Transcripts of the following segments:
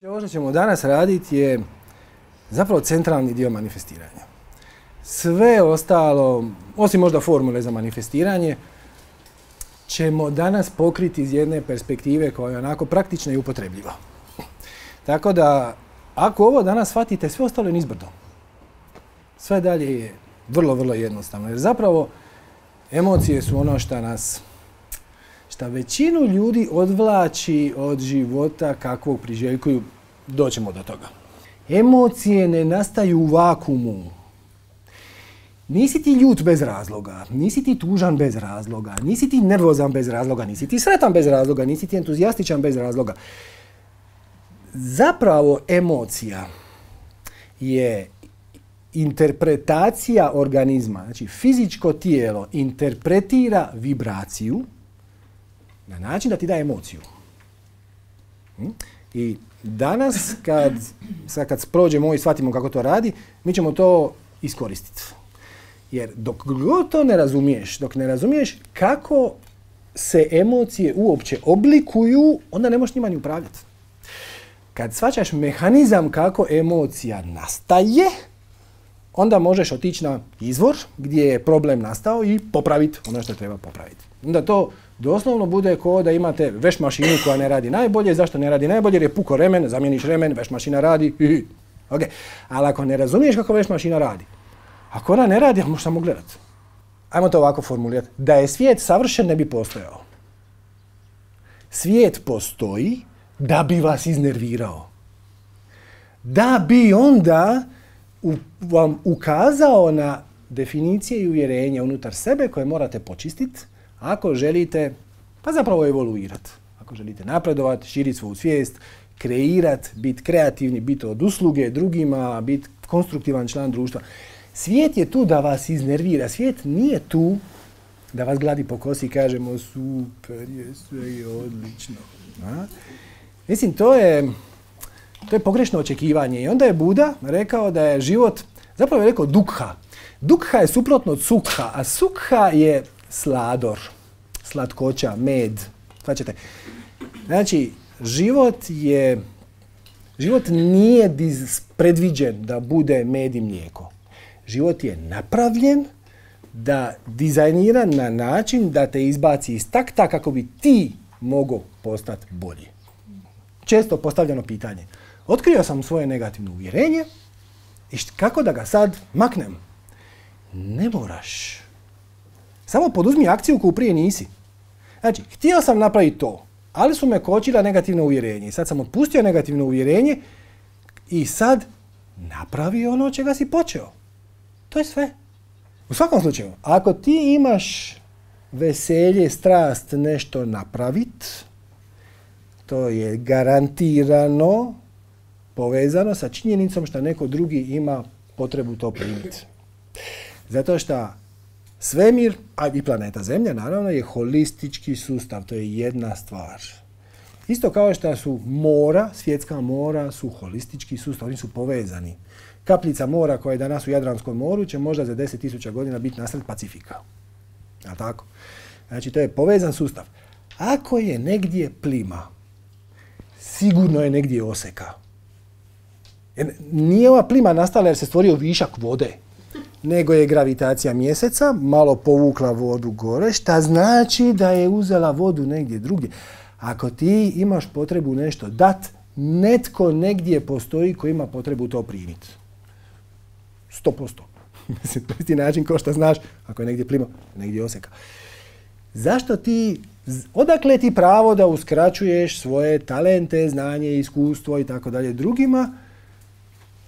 Ovo što ćemo danas raditi je zapravo centralni dio manifestiranja. Sve ostalo, osim možda formule za manifestiranje, ćemo danas pokriti iz jedne perspektive koja je onako praktična i upotrebljiva. Tako da, ako ovo danas shvatite, sve ostalo je nizbrdo. Sve dalje je vrlo jednostavno. Jer zapravo emocije su ono šta većinu ljudi odvlači od života kakvog priželjkuju. Doćemo do toga. Emocije ne nastaju u vakuumu. Nisi ti ljut bez razloga, nisi ti tužan bez razloga, nisi ti nervozan bez razloga, nisi ti sretan bez razloga, nisi ti entuzijastičan bez razloga. Zapravo emocija je interpretacija organizma. Znači, fizičko tijelo interpretira vibraciju na način da ti da emociju. I danas, kad prođemo i shvatimo kako to radi, mi ćemo to iskoristiti. Jer dok god to ne razumiješ, dok ne razumiješ kako se emocije uopće oblikuju, onda ne možeš njima ni upravljati. Kad shvaćaš mehanizam kako emocija nastaje, onda možeš otići na izvor gdje je problem nastao i popraviti ono što treba popraviti. Onda to doslovno bude kao da imate veš mašinu koja ne radi najbolje. Zašto ne radi najbolje? Jer je puko remen, zamijeniš remen, veš mašina radi. Okay. Ali ako ne razumiješ kako veš mašina radi, ako ona ne radi, možeš samo gledati. Ajmo to ovako formulirati. Da je svijet savršen, ne bi postojao. Svijet postoji da bi vas iznervirao. Da bi onda vam ukazao na definicije i uvjerenja unutar sebe koje morate počistiti ako želite, pa zapravo evoluirati. Ako želite napredovati, širiti svoju svijest, kreirati, biti kreativni, biti od usluge drugima, biti konstruktivan član društva. Svijet je tu da vas iznervira. Svijet nije tu da vas gladi po kosi i kažemo super je, sve je odlično. A? Mislim, to je pogrešno očekivanje. I onda je Buda rekao da je život, zapravo je rekao dukha. Dukha je suprotno od sukha, a sukha je slador, slatkoća, med. Svačate. Znači, život nije predviđen da bude med i mlijeko. Život je napravljen, dizajniran na način da te izbaci iz takta kako bi ti mogao postati bolji. Često postavljeno pitanje. Otkrio sam svoje negativno uvjerenje i kako da ga sad maknem? Ne moraš. Samo poduzmi akciju koju prije nisi. Znači, htio sam napraviti to, ali su me kočila negativno uvjerenje. Sad sam otpustio negativno uvjerenje i sad napravi ono čega si počeo. To je sve. U svakom slučaju, ako ti imaš veselje, strast nešto napraviti, to je garantirano povezano sa činjenicom što neko drugi ima potrebu to primiti. Zato što svemir, a i planeta Zemlja, naravno, je holistički sustav. To je jedna stvar. Isto kao što su mora, svjetska mora, su holistički sustav. Oni su povezani. Kapljica mora koja je danas u Jadranskom moru će možda za 10.000 godina biti nasred Pacifika. A tako? Znači, to je povezan sustav. Ako je negdje plima, sigurno je negdje oseka. Jer nije ova plima nastala jer se stvorio višak vode, nego je gravitacija mjeseca malo povukla vodu gore, šta znači da je uzela vodu negdje drugdje. Ako ti imaš potrebu nešto dat, netko negdje postoji koji ima potrebu to primiti. 100%. Mislim, to je isti način kao što znaš, ako je negdje plima, negdje oseka. Odakle ti pravo da uskraćuješ svoje talente, znanje, iskustvo i tako dalje drugima?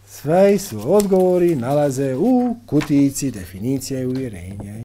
Sve su odgovori nalaze u kutijici definicije i uvjerenja.